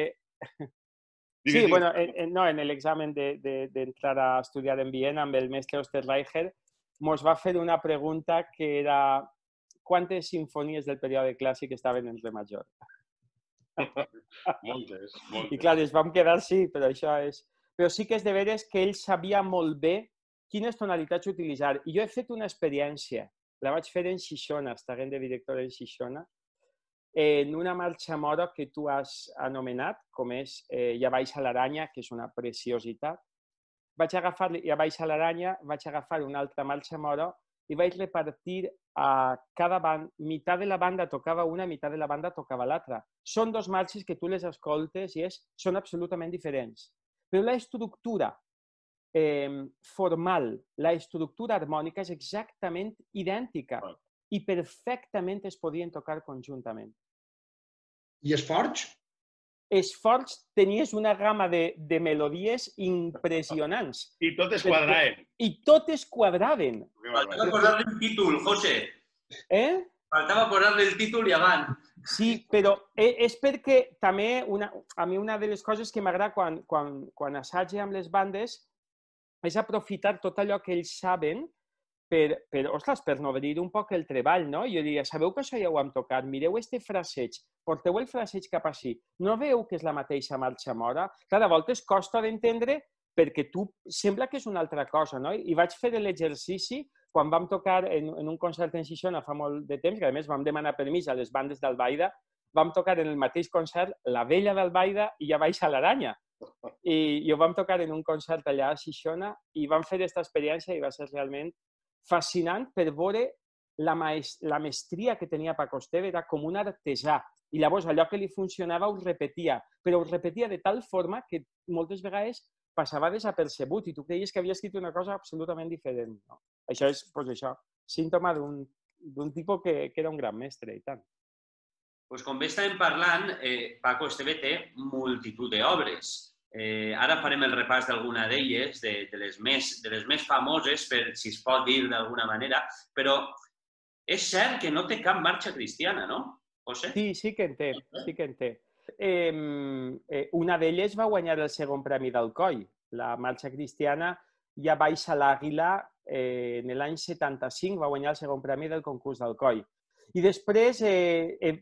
Sí, bueno, no, en l'examen d'entrar a estudiar en Viena amb el mestre Osterreicher, mos va fer una pregunta que era quantes simfonies del període clàssic estaven en re major? Moltes. I clar, ens vam quedar sí, però això és... Però sí que és de veres que ell sabia molt bé quines tonalitats utilitzar. I jo he fet una experiència, la vaig fer en Xixona, estàvem de director en Xixona, en una marxa mora que tu has anomenat, com és Ja baixa l'aranya, que és una preciositat. Vaig agafar Ja baixa l'aranya, vaig agafar una altra marxa mora i vaig repartir a cada banda, meitat de la banda tocava una, meitat de la banda tocava l'altra. Són dos marxes que tu les escoltes i són absolutament diferents. Però la estructura formal, la estructura harmònica és exactament idèntica i perfectament es podien tocar conjuntament. I Esforç? Esforç tenies una gamma de melodies impressionants. I totes quadraven. I totes quadraven. Faltava posar-li el títol, José. Faltava posar-li el títol i avant. Sí, però és perquè també a mi una de les coses que m'agrada quan assage amb les bandes és aprofitar tot allò que ells saben per nodrir un poc el treball, no? Jo diria, sabeu que això ja ho hem tocat? Mireu este fraseig, porteu el fraseig cap així. No veieu que és la mateixa marxa mora? Clar, a voltes costa d'entendre perquè tu sembla que és una altra cosa, no? I vaig fer l'exercici quan vam tocar en un concert en Xixona fa molt de temps, que a més vam demanar permís a les bandes d'Albaida, vam tocar en el mateix concert La Vella d'Albaida i Ja baixa l'aranya. I ho vam tocar en un concert allà a Xixona i vam fer aquesta experiència i va ser realment fascinant per veure la mestria que tenia Paco Esteve, era com un artesà. I llavors allò que li funcionava ho repetia, però ho repetia de tal forma que moltes vegades passava desapercebut i tu creies que havia escrit una cosa absolutament diferent. No? Això és, doncs això, símptoma d'un tipus que era un gran mestre i tant. Doncs com bé estàvem parlant, Paco Esteve té multitud d'obres. Ara farem el repàs d'alguna d'elles, de les més famoses, per si es pot dir d'alguna manera, però és cert que no té cap marxa cristiana, no, José? Sí, sí que en té, sí que en té. Una d'elles va guanyar el segon premi d'Alcoi. La marxa cristiana Ja baixa l'àguila, en l'any 75 va guanyar el segon premi del concurs d'Alcoi. I després,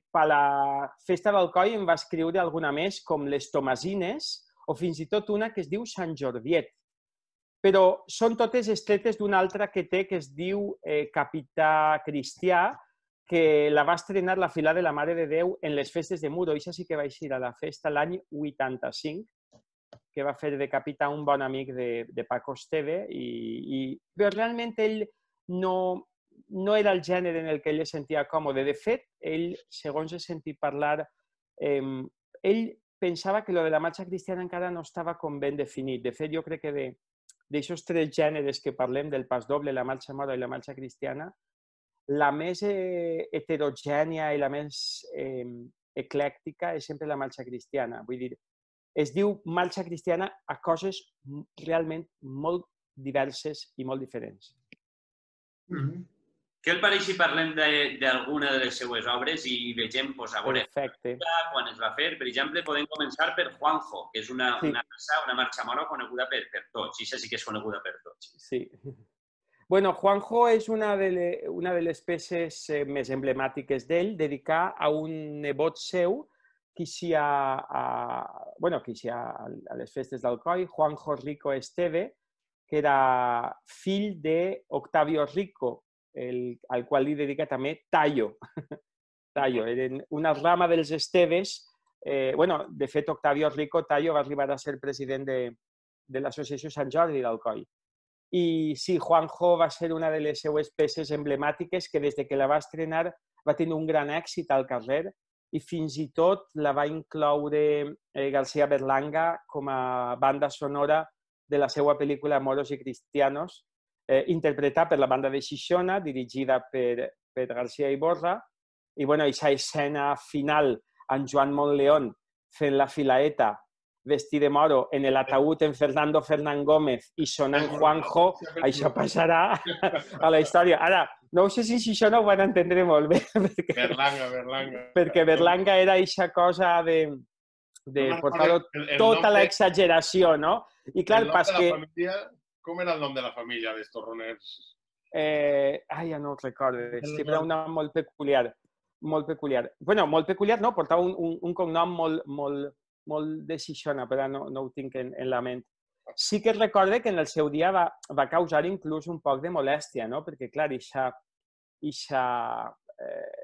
per la festa d'Alcoi, em va escriure alguna més, com les Tomasines, o fins i tot una que es diu Sant Jordiet. Però són totes extretes d'una altra que té, que es diu Capità Cristià, que la va estrenar la Fila de la Mare de Déu en les festes de Muro. Això sí que va eixir a la festa l'any 85, que va fer de capità un bon amic de Paco Esteve. Però realment ell no era el gènere en el que ell es sentia còmode. De fet, ell, segons he sentit parlar, ell pensava que lo de la marxa cristiana encara no estava com ben definit. De fet, jo crec que d'aixòs tres gèneres que parlem, del pas doble, la marxa mora i la marxa cristiana, la més heterogènia i la més eclèctica és sempre la marxa cristiana. Vull dir, es diu marxa cristiana a coses realment molt diverses i molt diferents. Què el pareix si parlem d'alguna de les seues obres i vegem, doncs, a veure, quan es va fer? Per exemple, podem començar per Juanjo, que és una marxa mora coneguda per tots. I això sí que és coneguda per tots. Sí. Bueno, Juanjo és una de les peces més emblemàtiques d'ell, dedicar a un nebot seu que hi ha a les festes d'Alcoi, Juanjo Rico Esteve, que era fill d'Octavio Rico, al qual li dedica també Tallo. Tallo, eren una rama dels Esteves. De fet, Octavio Rico Tallo va arribar a ser president de l'Associació Sant Jordi d'Alcoi. I sí, Juanjo va ser una de les seues peces emblemàtiques que des que la va estrenar va tenir un gran èxit al carrer i fins i tot la va incloure García Berlanga com a banda sonora de la seva pel·lícula Moros y Cristianos, interpretada per la banda de Xixona, dirigida per García Iborra. I aquesta escena final amb Joan Montleón fent la filaeta vestit de moro en l'ataúd en Fernando Fernán Gómez i sonant Juanjo, això passarà a la història. Ara, no sé si això no ho van entendre molt bé. Berlanga. Perquè Berlanga era aquesta cosa de portar tota l'exageració, no? I clar, pas que... Com era el nom de la família dels torroners? Ja no ho recordo. Sí, però un nom molt peculiar. Molt peculiar. Bueno, molt peculiar, no? Portava un cognom molt de Xixona, però no ho tinc en la ment. Sí que recorde que en el seu dia va causar inclús un poc de molèstia, no? Perquè, clar,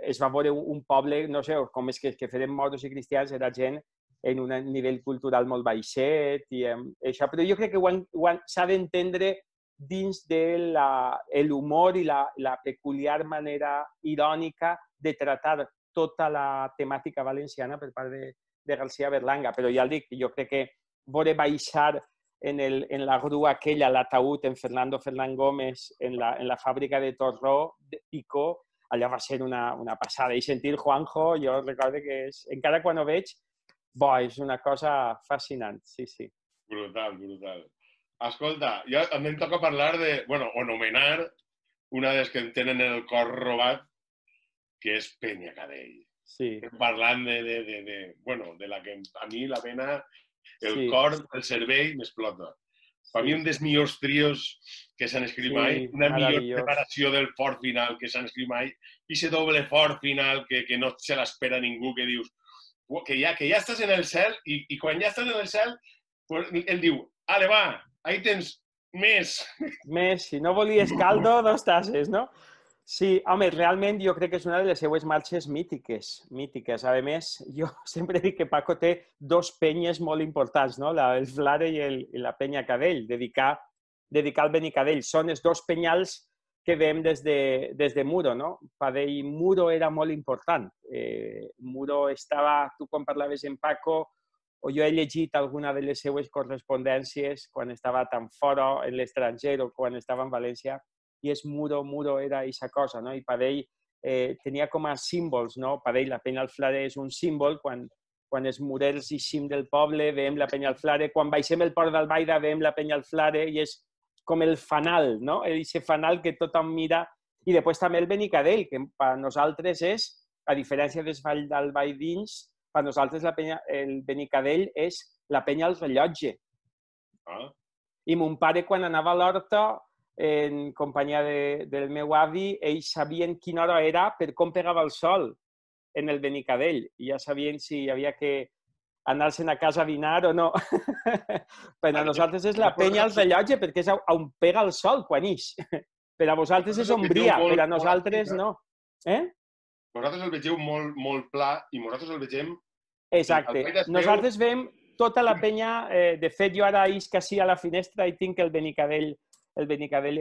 es va veure un poble, no sé, com és que feren moros i cristians, era gent en un nivell cultural molt baixet i això, però jo crec que s'ha d'entendre dins de l'humor i la peculiar manera irònica de tratar tota la temàtica valenciana per part de García Berlanga, però ja el dic, jo crec que veure baixar en la grua aquella, l'ataúd en Fernando Fernán Gómez, en la fàbrica de Torró, de Picó, allò va ser una passada. I sentir Juanjo, jo recordo que encara quan ho veig, és una cosa fascinant, sí, sí. Brutal. Escolta, a mi em toca parlar anomenar una de les que em tenen el cor robat, que és Penyacadell. Sí. Parlant de la que a mi la pena, el cor, el cervell m'explota. Per mi un dels millors trios que s'han escrit mai, una millor preparació del fort final que s'han escrit mai, i aquest doble fort final que no se l'espera ningú, que dius que ja estàs en el cel i quan ja estàs en el cel ell diu, ale va, ahí tens més. Més, si no volies caldo, 2 tasses, no? Sí, home, realment jo crec que és una de les seues marxes mítiques. A més, jo sempre dic que Paco té 2 penyes molt importants, no? El Flare i la Penyacadell, dedicar al Benicadell. Són els 2 penyals que veiem des de Muro, no? Per ell, Muro era molt important. Muro estava, tu quan parlaves amb Paco, o jo he llegit alguna de les seues correspondències quan estava tan fora en l'estranger o quan estava en València, i és Muro era aquesta cosa, no? I per ell tenia com a símbols, no? Per ell la Penya al Flare és un símbol, quan els murers eixim del poble veiem la Penya al Flare, quan baixem el Port d'Albaida veiem la Penya al Flare i és com el fanal, no? Aquest fanal que tothom mira. I després també el Benicadell, que per nosaltres és, a diferència dels Vall d'Albaidins, per nosaltres el Benicadell és la Penya al Rellotge. I mon pare, quan anava a l'horta, en companyia del meu avi, ells sabien quina hora era per com pegava el sol en el Benicadell. I ja sabien si hi havia que anar-se'n a casa a dinar o no. Per a nosaltres és la Penya al Rellotge, perquè és on pega el sol quan ix. Per a vosaltres és ombria, per a nosaltres no. Vosaltres el vegeu molt pla i nosaltres el vegem... Exacte. Nosaltres veiem tota la penya. De fet, jo ara isc així a la finestra i tinc el Benicadell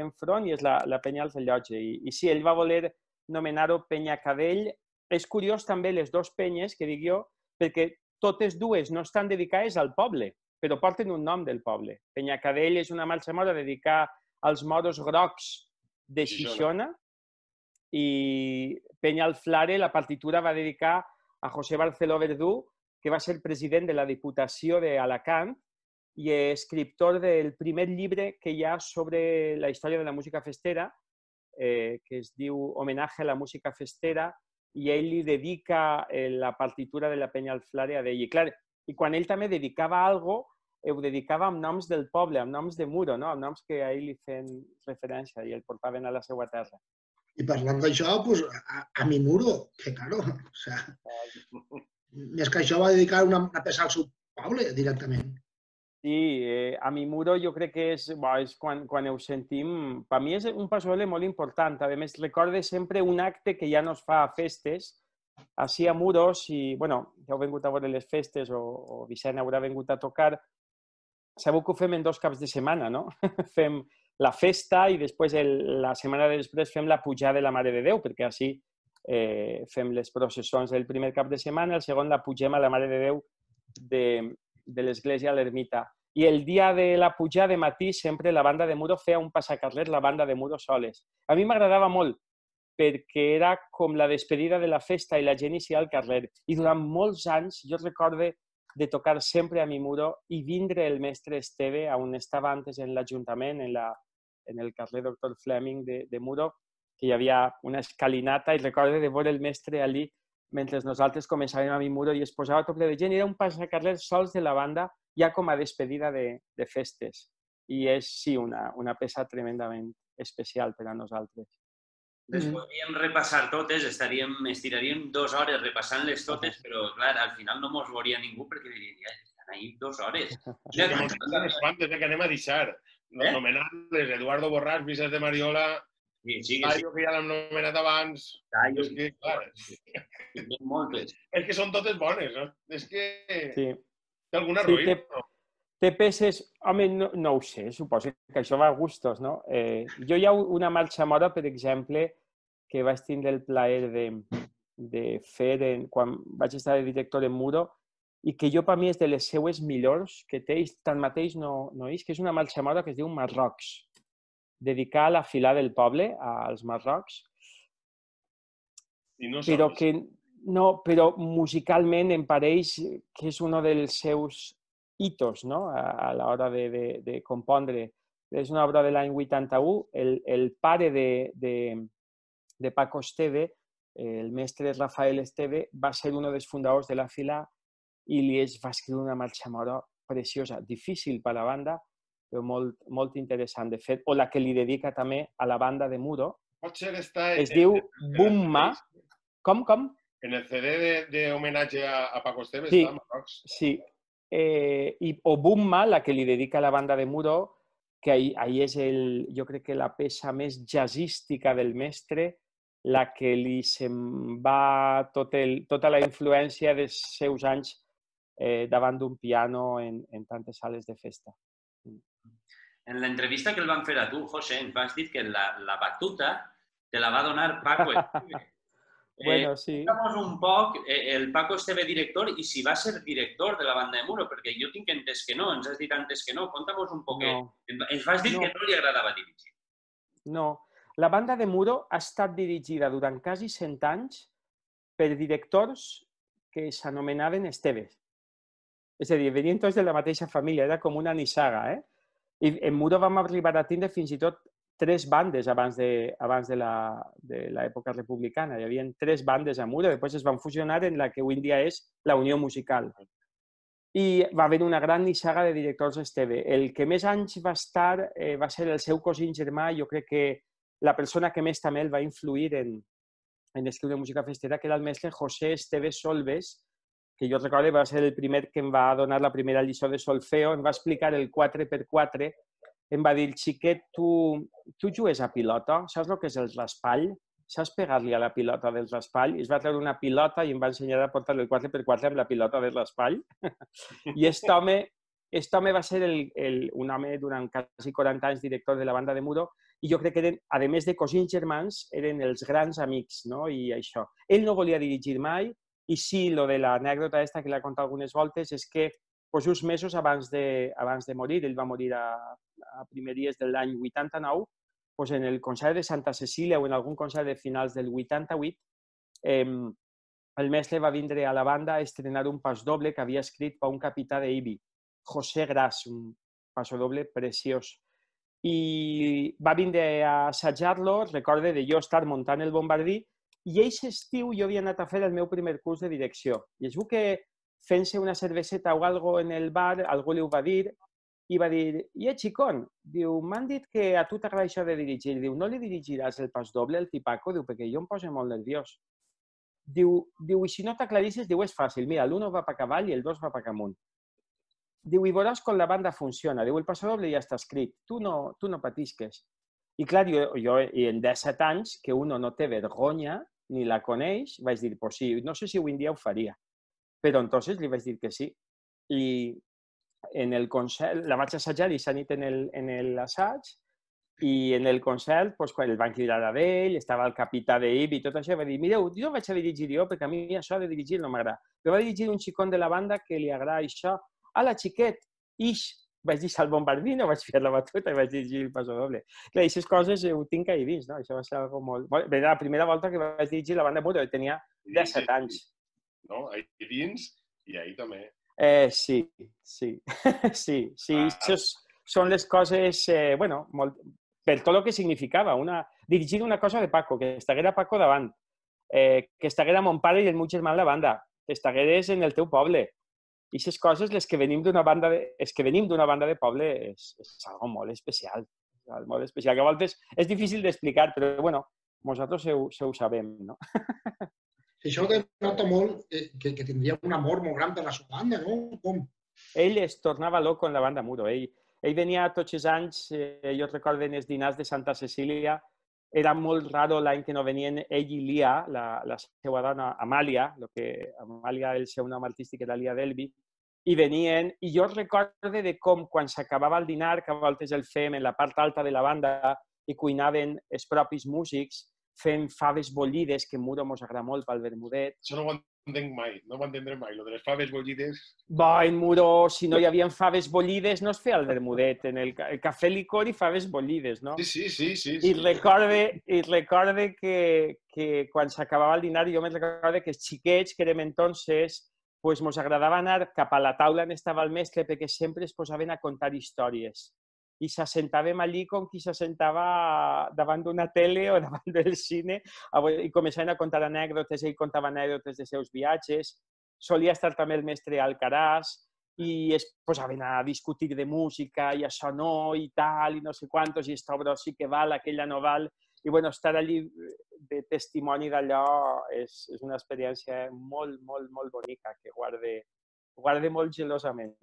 enfront i és la Penya al Rellotge. I sí, ell va voler nomenar-ho Penyacadell. És curiós també les 2 penyes, que dic jo, perquè totes 2 no estan dedicades al poble, però porten un nom del poble. Penyacadell és una marxa mora dedicada als moros grocs de Xixona i Penya al Flare, la partitura va dedicar a José Barceló Verdú, que va ser president de la Diputació d'Alacant i escriptor del primer llibre que hi ha sobre la història de la música festera, que es diu Homenaje a la música festera, i ell li dedica la partitura de la Penya Alflare a ell. I quan ell també dedicava alguna cosa, ho dedicava amb noms del poble, amb noms de Muro, no? Amb noms que a ell li feien referència i el portaven a la seva terra. I parlant d'això, pues, a mi Muro, que claro, o sea, més que això va dedicar una peça al seu poble, directament. Sí, a mi Muro jo crec que és quan ho sentim, per mi és un pasoble molt important. A més, recorde sempre un acte que ja no es fa a festes, així a Muros, i, bueno, ja heu vingut a veure les festes o Vicent haurà vingut a tocar. Sabeu que ho fem en 2 caps de setmana, no? Fem la festa i després, la setmana després, fem la pujada de la Mare de Déu, perquè així fem les processons del primer cap de setmana, el segon la pugem a la Mare de Déu de l'església a l'ermita. I el dia de la pujada de matí sempre la banda de Muro feia un passacarrer, la banda de Muro soles. A mi m'agradava molt perquè era com la despedida de la festa i la gent inicia al carrer. I durant molts anys jo recordo de tocar sempre a mi Muro i vindre el mestre Esteve, on estava antes en l'Ajuntament, en el carrer Doctor Fleming de Muro, que hi havia una escalinata i recordo de veure el mestre allí mentre nosaltres començàvem a mi Muro i es posava tot ple de gent i era un passacarrer sols de la banda ja com a despedida de festes. I és, sí, una peça tremendament especial per a nosaltres. Les podríem repassar totes, estiraríem 2 hores repassant-les totes, però, clar, al final no mos veuria ningú perquè diria, estan ahí 2 hores. Unes quantes que anem a deixar. Nomenant-les Eduardo Borràs, Vicenç de Mariola, Tallo, que ja l'hem nomenat abans. Tallo. És que, clar, moltes. és que són totes bones, no? És que té alguna ruïna, no? Té peces... Home, no ho sé, suposo que això va a gustos, no? Jo hi ha una marxa mora, per exemple, que vaig tindre el plaer de fer quan vaig estar de director en Muro i que jo, per mi, és de les seues millors que té, i tanmateix no és, que és una marxa mora que es diu Marrocs, dedicada a la fila del poble, als Marrocs, però musicalment em pareix que és un dels seus hitos, no? A l'hora de compondre. És una obra de l'any 81. El pare de Paco Esteve, el mestre Rafael Esteve, va ser un dels fundadors de la fila i li va escriure una marxa mora preciosa, difícil per a la banda, però molt, molt interessant de fet, o la que li dedica també a la banda de Muro. Es diu Bumma. Com? En el CD d'homenatge a Paco Esteve sí, està Marrocs. Sí. O Bumma, la que li dedica a la banda de Muro, que ahí és jo crec que la peça més jazzística del mestre, la que li se'n va tota la influència dels seus anys davant d'un piano en tantes sales de festa. En l'entrevista que el van fer a tu, José, ens vas dir que la batuta te la va donar Paco Esteve. Bueno, sí. Conta'mos un poc el Paco Esteve director i si va ser director de la banda de Muro, perquè jo tinc entès que no, ens has dit antes que no. Conta'mos un poc. Ens vas dir que no li agradava dirigir. No. La banda de Muro ha estat dirigida durant quasi 100 anys per directors que s'anomenaven Esteves. És a dir, venien tots de la mateixa família, era com una nissaga, I en Muro vam arribar a tindre fins i tot 3 bandes abans de l'època republicana. Hi havia 3 bandes a Muro, després es van fusionar en la que avui en dia és la Unió Musical. I va haver una gran nissaga de directors Esteve. El que més anys va estar va ser el seu cosí germà, jo crec que la persona que més també el va influir en escriure música festera, que era el mestre José Esteve Solves, que jo recordo va ser el primer que em va donar la primera lliçó de solfeo, em va explicar el 4x4, em va dir, xiquet, tu jugues a pilota? Saps el que és el raspall? Saps pegar-li a la pilota del raspall? I es va treure una pilota i em va ensenyar a portar el 4x4 amb la pilota del raspall. I aquest home va ser un home durant quasi 40 anys director de la banda de Muro i jo crec que, eren, a més de cosins germans, eren els grans amics, no? I això. Ell no volia dirigir mai i sí, lo de l'anècdota aquesta que l'ha contat algunes voltes és que just mesos abans de morir, ell va morir a primeries de l'any 89, en el concert de Santa Cecília o en algun concert de finals del 88, el mestre va vindre a la banda a estrenar un pasdoble que havia escrit per un capità d'Ibi, José Gras, un pasdoble preciós. i va vindre a assajar-lo, recorde de jo estar muntant el bombardí, i aquest estiu jo havia anat a fer el meu primer curs de direcció. I es veu que fent-se una cerveseta o algo en el bar, algú li ho va dir, i va dir, xicón, diu, m'han dit que a tu t'agrada això de dirigir. Diu, no li dirigiràs el pas doble al tipaco? Diu, perquè jo em poso molt nerviós. Diu, i si no t'aclarisses, diu, és fàcil, mira, l'1 va per avall i el 2 va per amunt. Diu, i veuràs com la banda funciona. Diu, el passadoble ja està escrit, tu no patisques. I clar, jo en 17 anys, que uno no té vergonya ni la coneix, vaig dir, pues sí, no sé si avui en dia ho faria. Però entonces li vaig dir que sí. I en el concert, la vaig assajar i s'ha nit en l'assaig, i en el concert, pues, quan el van cridar a ell, estava el capità d'IB i tot això, va dir, mireu, jo vaig a dirigir jo, perquè a mi això de dirigir no m'agrada. Però va dirigir un xicón de la banda que li agrada això. Ala, xiquet, vaig dir al bombardí, no vaig fer la batuta i vaig dirigir el passadoble. Clar, aquestes coses ho tinc ahí dins, no? Això va ser algo molt... Bé, la primera volta que vaig dirigir la banda Muro, tenia 17 anys. No? Ahí dins i ahí també. Sí. Això són les coses, bueno, per tot el que significava. Dirigir una cosa de Paco, que estaguera Paco davant, que estaguera mon pare i el meu germà en la banda, que estagueres en el teu poble. I aquestes coses, les que venim d'una banda de poble, és algo molt especial. Molt especial, que a voltes és difícil d'explicar, però, bueno, nosaltres ho sabem, no? Això denota molt que tindria un amor molt gran per la seva banda, no? Com? Ell es tornava loco en la banda Muro. Ell venia tots els anys, jo recordo en els dinars de Santa Cecília, era molt raro l'any que no venien ell i Lia, la seva dona Amàlia, Amàlia, el seu nom artístic era Lia Delvi, i venien, i jo recordo de com quan s'acabava el dinar, que a voltes el fem en la part alta de la banda i cuinaven els propis músics, fent faves bullides, que en Muro mos agrada molt pel vermudet. Això no ho entenc mai, no ho entendré mai, lo de les faves bullides. En Muro, si no hi havia faves bullides, no es feia el vermudet, en el cafè licor i faves bullides, no? Sí. I recorde que quan s'acabava el dinar, jo me'n recordo que els xiquets, que érem entonces, pues mos agradava anar cap a la taula on estava el mestre perquè sempre es posaven a contar històries. I s'assentàvem allí com qui s'assentava davant d'una tele o davant del cine i començaven a contar anècdotes. Ell contava anècdotes dels seus viatges. Solia estar també el mestre Alcaraz i es posaven a discutir de música i això no, i tal, i no sé quantos, i esta obra sí que val, aquella no val. I bueno, estar allí de testimoni d'allò és una experiència molt, molt, molt bonica que guarde molt gelosament.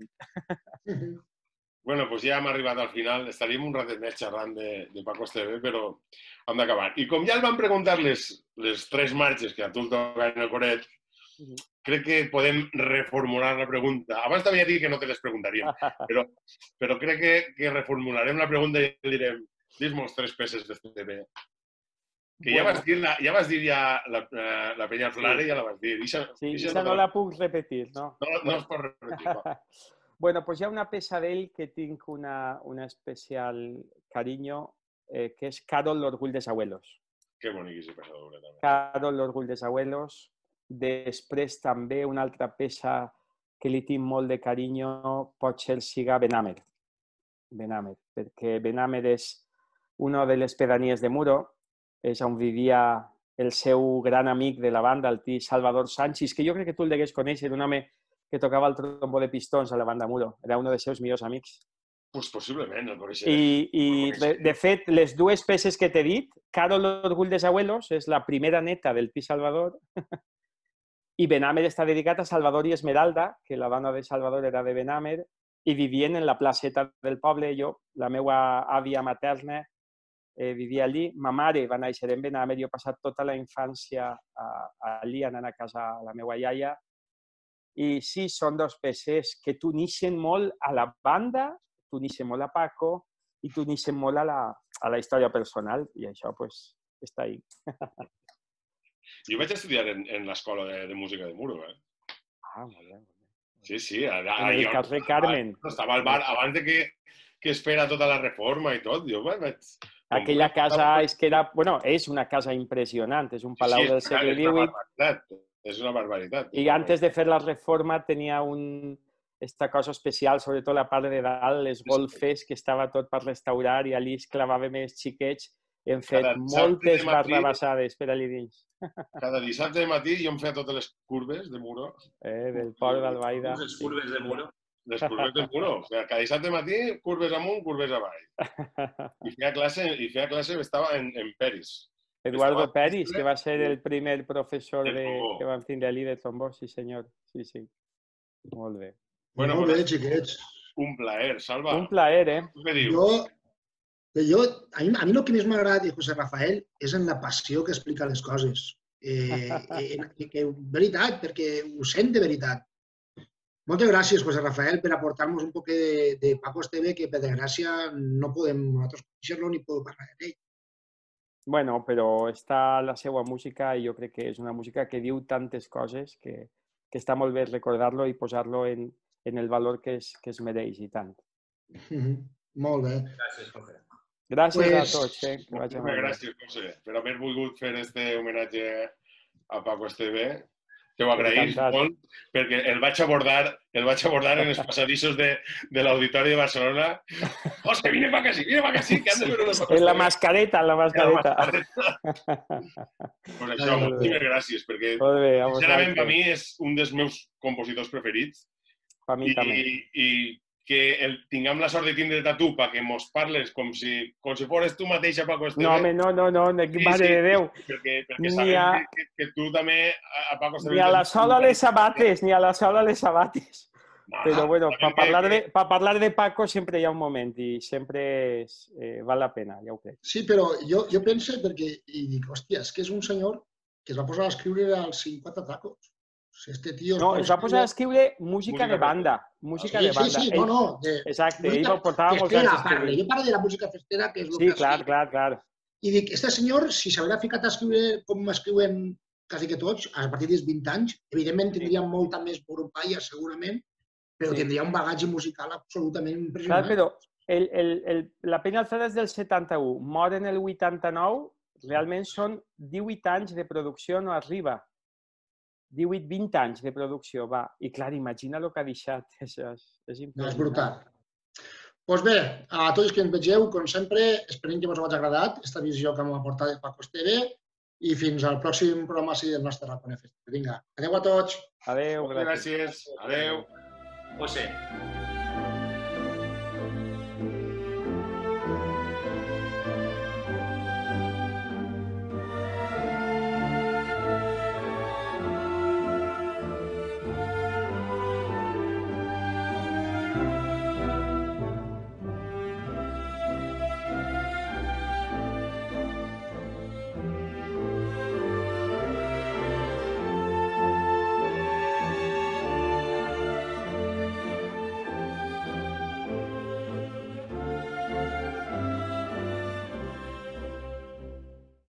Bueno, pues ja hem arribat al final. Estaríem un ratet més xerrant de Paco Esteve, però hem d'acabar. I com ja el van preguntar les 3 marxes que a tu el toquen en el coret, crec que podem reformular la pregunta. Abans t'havia dit que no te les preguntaríem, però crec que reformularem la pregunta i direm, dis-mos 3 peces d'Esteve. Que ja vas dir la Peña Flare, ja la vas dir. Sí, això no la puc repetir, no? No es pot repetir, no. Bueno, pues hi ha una peça d'ell que tinc un especial carinyo, que és Carol, l'orgull dels abuelos. Que bonic aquesta peça doble, també. Carol, l'orgull dels abuelos. Després també una altra peça que li tinc molt de carinyo potser siga Benamer. Perquè Benamer és una de les pedanies de Muro, és on vivia el seu gran amic de la banda, el tio Salvador Sánchez, que jo crec que tu el degués conèixer, un home que tocava el trombó de pistons a la banda Muro. Era un dels seus millors amics. Pues possiblement, el coneixeré. I de fet, les 2 peces que t'he dit, Carol, l'orgull dels abuelos, és la primera neta del Pi Salvador, i Benamer està dedicat a Salvador i Esmeralda, que la dona de Salvador era de Benamer, i vivien en la placeta del poble. La meva àvia materna vivia allí. Ma mare va néixer en Benamer, jo he passat tota la infància allí, anant a casa a la meva iaia. I sí, són 2 peces que t'uneixen molt a la banda, t'uneixen molt a Paco i t'uneixen molt a la història personal, i això pues, està ahí. Jo vaig estudiar en l'escola de música de Muro, eh? Ah, molt bé. Sí. En el carrer Carmen. Estava al bar abans de que es fera tota la reforma i tot. Aquella casa és que era... Bueno, és una casa impressionant, és un palau del segle XVIII. És una barbaritat. I antes de fer la reforma tenia un aquesta cosa especial, sobretot la part de dalt, les golfes, que estava tot per restaurar i allí es clavava més xiquets. Hem fet moltes barrabassades per allà dins. Cada dissabte de matí jo em feia totes les curves de muro. Del port d'Albaida. Les curves de muro. Les curves del muro. O sigui, cada dissabte matí, curves amunt, curves avall. I feia classe, estava en Peris. Eduardo Peris, que va ser el primer professor que vam tindre allí de trombó, sí senyor. Sí, sí. Molt bé. Bueno, molt bé, xiquets. Un plaer, Salva. Un plaer, eh? Què dius? A mi el que més m'agrada de José Rafael és en la passió que explica les coses. Que veritat, perquè ho sent de veritat. Moltes gràcies, José Rafael, per aportar-nos un poc de Paco Esteve, que per desgràcia no podem nosaltres conèixer-lo ni podem parlar d'ell. Bueno, però està la seva música i jo crec que és una música que diu tantes coses que està molt bé recordar-lo i posar-lo en el valor que es mereix i tant. Molt bé. Gràcies, José. Gràcies a tots. Gràcies, José, per haver volgut fer este homenatge a Paco Esteve. Te ho agraïs molt, perquè el vaig abordar en els passadissos de l'Auditori de Barcelona. José, vine pa' casi, que han de veure una Paco Esteve. En la mascareta, Pues això, moltíssimes gràcies, perquè sincerament per mi és un dels meus compositors preferits. Per mi també. I que tinguem la sort de tindre't a tu perquè mos parles com si fores tu mateixa, Paco Esteve. No, home, no, mare de Déu. Perquè sabem que tu també a Paco Esteve... Ni a la sola les abates, Però bueno, per parlar de Paco sempre hi ha un moment i sempre val la pena, ja ho crec. Sí, però jo penso perquè, i dic, hòstia, és que és un senyor que es va posar a escriure als 50 tacos. No, es va posar a escriure música de banda. Música de banda. Sí, no. Exacte, ell portava molts anys escrivint. Jo parlo de la música festera, que és el que... Sí, clar. I dic, este senyor, si s'haurà ficat a escriure com escriuen quasi que tots, a partir dels 20 anys, evidentment tindria molta més borropaia, segurament, però tindria un bagatge musical absolutament impressionant. Clar, però la Peña Alzada és del 71, mor en el 89, realment són 18 anys de producció, no arriba. 18-20 anys de producció, va. I clar, imagina el que ha deixat. És impressionant. És brutal. Doncs bé, a tots que ens vegeu, com sempre, esperem que us hagi agradat aquesta visió que m'ha aportat Paco Esteve i fins al pròxim programa del nostre Raconet Festival. Vinga, adeu a tots. Adeu, gràcies. Adeu. José.